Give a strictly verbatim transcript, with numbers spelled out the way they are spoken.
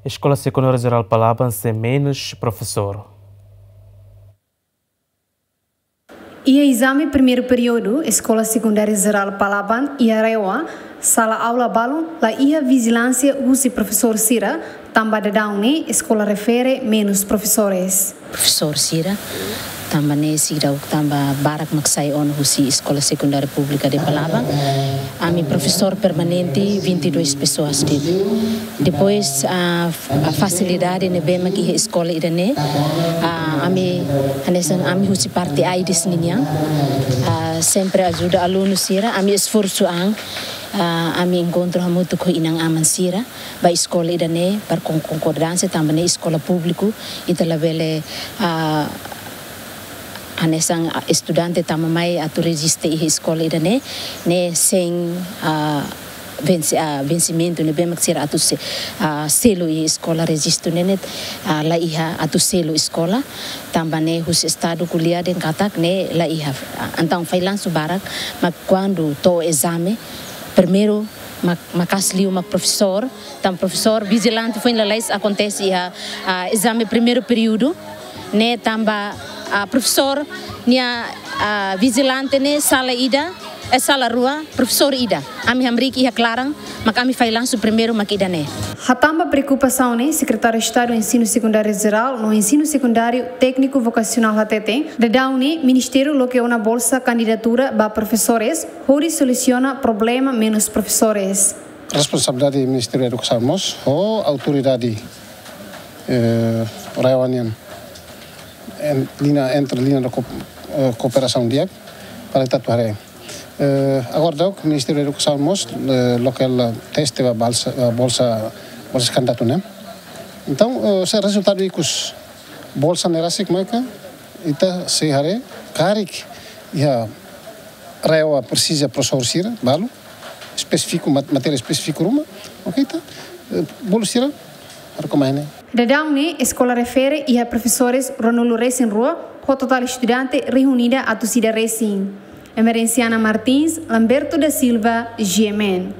Eskola Sekundária Jerál Palaban sei menus profesór. Iha ezame primeiru períodu, Eskola Sekundária Jerál Palaban iha RAEOA, sala aula balun la iha vijilánsia husi profesór sira, tanba daudaun ne'e eskola refere menus profesores. Profesór sira, tanba ne'e seidauk tanba barak mak sai ona husi Eskola Sekundária Públika de Palaban. Ami profesór permanente vinte e duas pessoas de'it. Depois, ah, a fasilidade ne'ebé mak iha eskola ida-ne'e, ah, ami, hanesan ami husi parte AIDS ninian, ah, sempre ajuda alunu sira, ami esforsu an, ah, ami enkontru hamutuk ho inan-aman sira ba eskola ida-ne'e, para kon-, konkordánsia tanba ne'e eskola públiku, ita labele, ah, hanesan, ah, estudante tama mai atu rejista iha eskola ida-ne'e, ne'e sein, ah, vense-, ah, vensimentu ne'ebé mak sira atu se-, ah, selu iha eskola, rejistu ne'e ne'e, ah, la iha atu selu eskola, tanba ne'e husi estadu ko'alia dehan katak ne'e la iha. Ah, entaun failansu barak, mak kuandu to'o ezame, primeiru mak, maka'as liu mak profesór, tanba profesór vijilante foin lalais akontese iha, ah, ezame primeiru períodu, ne'e tanba, ah, profesór nia, ah, vijilante ne'e sala ida, eh, sala rua, profesór ida. Ami hamriik iha klaran, mak ami failansu primeiru mak ida-ne'e. Hatán ba preokupasaun ne'e, Sekretáriu Estadu Ensinu Sekundáriu Jerál no Ensinu Sekundáriu Tékniku Vokasionál hateten, daudaun ne'e Ministériu loke ona bolsa kandidatura ba profesores, hodi solusiona problema menus profesores. Responsabilidade Ministériu Edukasaun mós ho autoridade, eh, RAEOA nian, en-, liña, entre liña de ko-, eh, kooperasaun di'ak para ita atu haree. Eh, agora daudauk Ministériu Edukasaun mós, eh, loke teste ba bolsa, eh, bolsa, bolsa kandidatu ne'e. Entaun, eh, se rezultadu ikus bolsa ne'e rasik mai ka, ita sei haree karik iha RAEOA presiza profesór sira balu, espesífiku, mat-, matéria espesífiku ruma, oke, ita, eh, bolu sira, haree kona-ba ne'e. Daudaun ne'e, eskola refere iha profesores ruanulu-resin-rua, ho totál estudante rihun ida atus ida resin. Emerenciana Martins, Lamberto da Silva, G M N.